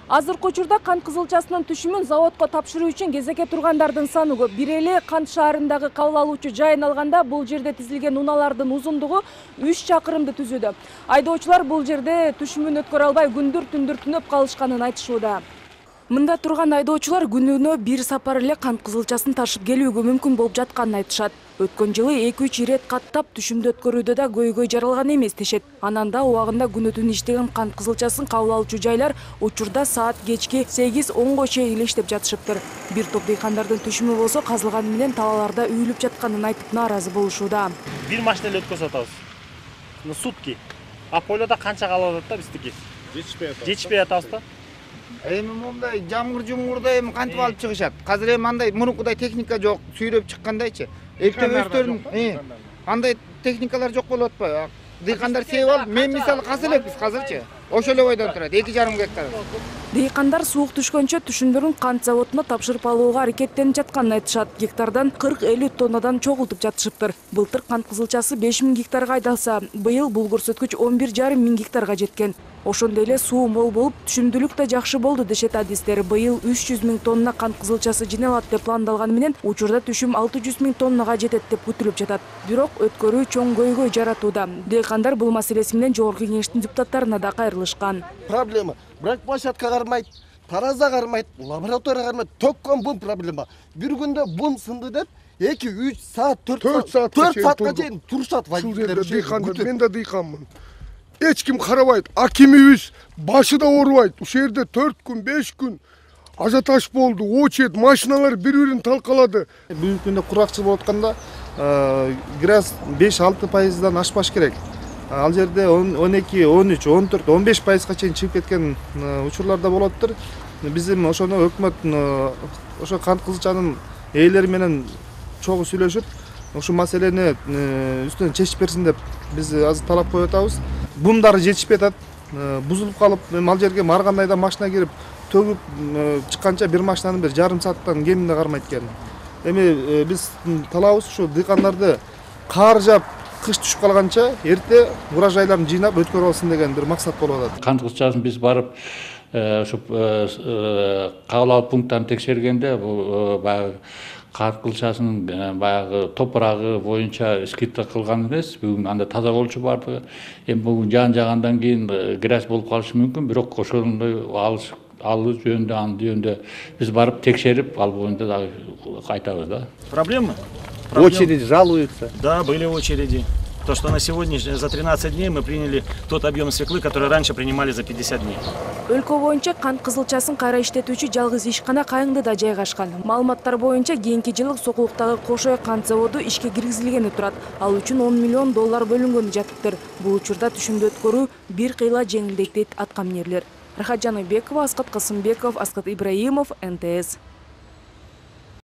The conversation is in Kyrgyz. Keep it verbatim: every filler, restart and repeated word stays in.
Азыркы учурда кант кызылчасынын түшүмүн заводко тапшыруу үчүн кезекке тургандардын саны көп. Бир эле Кант шаарындагы кабыл алуучу жайын алганда бул жерде тизилген унаалардын узундугу үч чакырымды түзүүдө. Айдоочулар бул жерде түшүмүн өткөрө албай күндүр түндүр түнөп калышканын айтышууда. Мында турган айдоочулар күнүнө бир сапар эле кант кызылчасын ташып келүүгө мүмкүн болуп жатканын айтышат. Өткөн жылы эки үч ирет каттап түшүмдү өткөрүүдө да көйгөй жаралган эмес дешет. Анан да убагында күнү түн иштеген кант кызылчасын кабыл алуучу жайлар учурда саат кечки сегиз онго чейин эле иштеп жатышыптыр. Бир топ дыйкандардын түшүмү болсо казылганы менен талааларда үйүлүп жатканын айтып нааразы болушууда. Бир машина эле өткөрүп атабыз. Сутки. А полода канча калып атат да биздики? Жетишпей атабыз. Жетишпей атабыз да. Эми момундай жамгыр жумгурда эми кантип алып чыгышат? Азыр эми андай мурункудай техника жок, сүйрөп чыккандайчы. Эптебөстөрүн андай техникалар жок болуп атпайбы? Дыйкандар сээп алып, мен мисалы касы элекпиз азырчы. Ошол эле бойдон турат, эки жарым гектар. Дыйкандар суук түшкөнчө түшүмдөрүн кант заводуна тапшырып алууга аракеттенип жатканын айтышат. Гектардан кырк элүү тоннадан чогултуп жатышыптыр. Былтыр кант кызылчасы беш миң гектарга айдалса, быйыл бул көрсөткүч он бир жарым миң гектарга жеткен. Ошондой эле суу мол болуп, түшүмдүүлүк да жакшы болду дешет адистер. Быйыл үч жүз миң тонна кант кызылчасы жиналат деп пландалганы менен, учурда түшүм алты жүз миң тоннага жетет деп күтүлүп жатат. Бирок өткөрүү чоң көйгөй жаратууда. Дыйкандар бул маселеси менен жогорку кеңештин депутаттарына да кайрылышкан. Проблема. Бирок площадка кармайт, тараза кармайт, лаборатория кармайт. Токкон бун проблема. Бир күндө бун сынды деп эки үч саат төрт саатка чейин турушат водителер. Дыйкандар, мен да дыйканмын. Эч ким карабайт, акимибиз башы да оорубайт. Ушул жерде төрт күн, беш күн ажиотаж болду, очередь, машиналар бири-бирин талкалады. Бүгүнкү күндө куракчыл болуп атканда газ беш алты пайыздан ашпаш керек. Ал жерде он эки, он үч, он төрт, он беш пайызга чейин чыгып кеткен учурлар да болоттур. Биз эми ошону өкмөт ошо кант кызылчанын ээлери менен чогуу сүйлөшүп, ушул маселени үстүнөн чечип берсин деп биз азыр талап коюп атабыз. Бумдары жетишпей атат, бузулуп калып, ал жерге ар кандай да машина кирип, төгүп чыкканча бир машинанын бир жарым сааттан кеминде кармайт экен. Эми биз талабыбыз ушу дыйкандарды кар жаап, кыш түшүп калганча эрте урожайларын жыйнап өткөрүп алсын деген бир максат болуп атат. Кант кызылчасын биз барып ушу кабыл алуу пункттарын текшергенде бул баягы кант кызылчасынын баягы топурагы боюнча скидка кылган эмес. Бүгүн анда таза болчу бардыгы. Эми бүгүн жаан жагандан кийин грязь болуп калышы мүмкүн, бирок ошондой алыш алуу жөнүндө анын жөнүндө биз барып текшерип, ал боюнча дагы айтабыз да. Проблема? Очереди жалуются. Да, были очереди. То, что на сегодня за тринадцать дней мы приняли тот объем свеклы, который раньше принимали за пятьдесят дней. Өлкө боюнча кант кызылчасын кайра иштетүүчү жалгыз ишкана Кайыңдыда жайгашкан. Маалыматтар боюнча кийинки жылы Сокулуктагы Кошой кант заводу ишке киргизилгени турат. Ал үчүн он миллион доллар бөлүнгөнү жатыптыр. Бул учурда түшүмдү өткөрүү бир кыйла жеңилдейт дейт аткаминерлер. Рахат Жаныбекова, Аскат Касымбеков, Аскат Ибраимов, эн тэ эс.